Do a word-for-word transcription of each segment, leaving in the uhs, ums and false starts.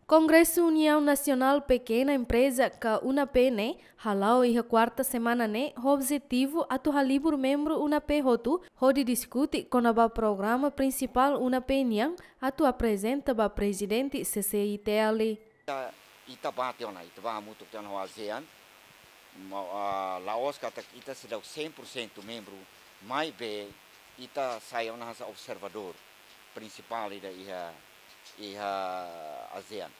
Kongresu Uniaun Nasionál Pekena Empreza ka UNAPE ne'e hala'o iha kuarta semana ne'e ho objetivu atu halibur membru UNAPE hotu hodi diskute kona-ba programa prinsipál UNAPE nian atu aprezenta ba Prezidente C C I T L. Ita, ita bá tiha ona, ita bá hamutuk tiha ona ho ASEAN, ma, ah, la'ós katak ita seidauk cem por cento membru, maibé ita sai ona hanesan observadór prinsipál ida iha, iha ASEAN.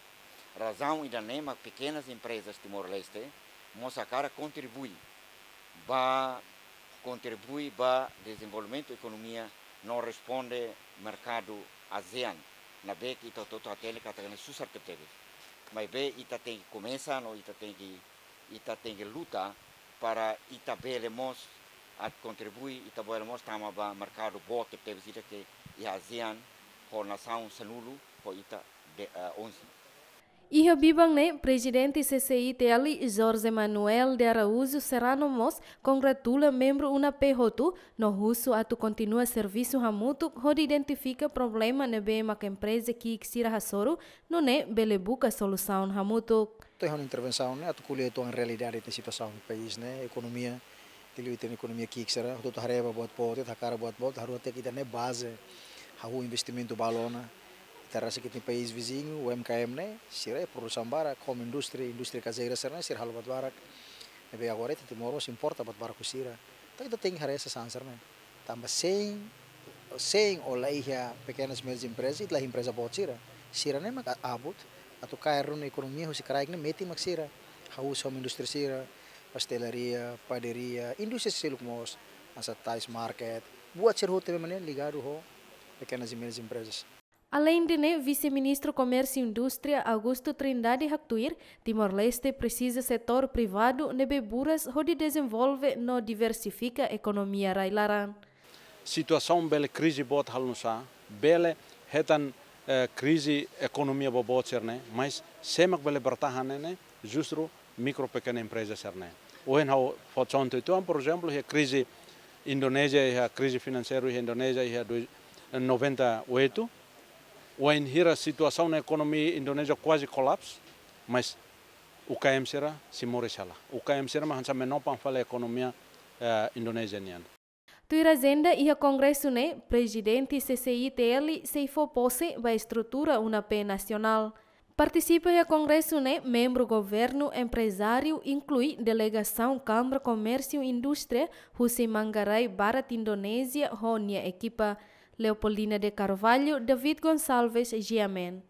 Razaun ida-ne'e mak pekenas emprezas Timor-Leste mós hakarak kontribui ba, kontribui ba dezenvolvimentu ekonomia no responde merkadu ASEAN. Ne'ebé ke ita hotu-hotu hatene katak ne'e susar tebetebes. Maibé ita tenke komesa no ita tenke, ita tenke luta para ita bele mós atu kontribui, ita bele mós tama ba merkadu boot tebetebes ida ke iha ASEAN ho nasaun sanulu ho ita de, eh, onze. Iha biban ne'e, Prezidente C C I T L, Jorge Manuel de Araújo Serrano mós kongratula membru UNAPE hotu no husu atu kontinua servisu hamutuk hodi identifika problema ne'ebé mak empreza ki'ik sira hasoru, nune'e bele buka solusaun hamutuk. To'o ha'u-nia intervensaun ne'e atu ko'alia uitoan realidade ita-nia situasaun país ne'e, ekonomia, liuliu ita-nia ekonomia ki'ik sira, hotu-hotu haree ba buat boot, ita hakarak buat boot, haree katak ita-nia baze, hahú investimentu balu ona, ita rasik ita-nia país viziñu, U M K M ne'e, sira iha produsaun barak, home industry, indústria kazeiras sira-ne'e, sira halo buat barak. Ne'ebé agora ita Timor mós importa buat barak husi sira. Entaun ita tenke haree sasán sira-ne'e. Tanba sein, sein o la iha pekenas médias empreza, ita la iha empreza boot sira. Sira-ne'e mak abut atu kaer ruma ekonomia husi kraik ne'e metin mak sira. Hahú husi home industry sira, pastelaria, padaria, indústria seluk mós, hanesan tais market, buat sira hotu ne'ebé mak ne'e ligadu ho pekenas e médias emprezas. Aleinde ne'e, Vise-Ministru Komérsiu Indústria Augusto Trindade haktuir, Timor-Leste presiza setór privadu ne'ebé buras hodi dezenvolve no diversifika ekonomia rai-laran. Situasaun bele krize boot halo nusá, bele hetan, eh, krize ekonomia boboot sira-ne'e, mas sé mak bele bertahan ne'e, ne'e justru mikro pekena empreza sira-ne'e. Ohin ha'u fó konta uitoan, por ezemplu, iha krize Indonézia, iha krize finanseiru iha Indonézia, iha dois, noventa e oito. Wainhira situasaun ekonomia Indonézia kuaze kolapsu, mas U K M sira sei moris hela. U K M sira mak hanesan menopan fali ekonomia, eh, Indonézia nian. Tuir ajenda iha kongresu ne'e, Prezidente C C I T L sei fó pose ba estrutura UNAPE nasionál. Partisipa iha kongresu ne'e membru governu, emprezáriu, inklui delegasaun Kámara Komérsiu Indústria husi Manggarai, Barat Indonézia, ho nia ekipa. Leopoldina de Carvalho, David Gonçalves, G M N.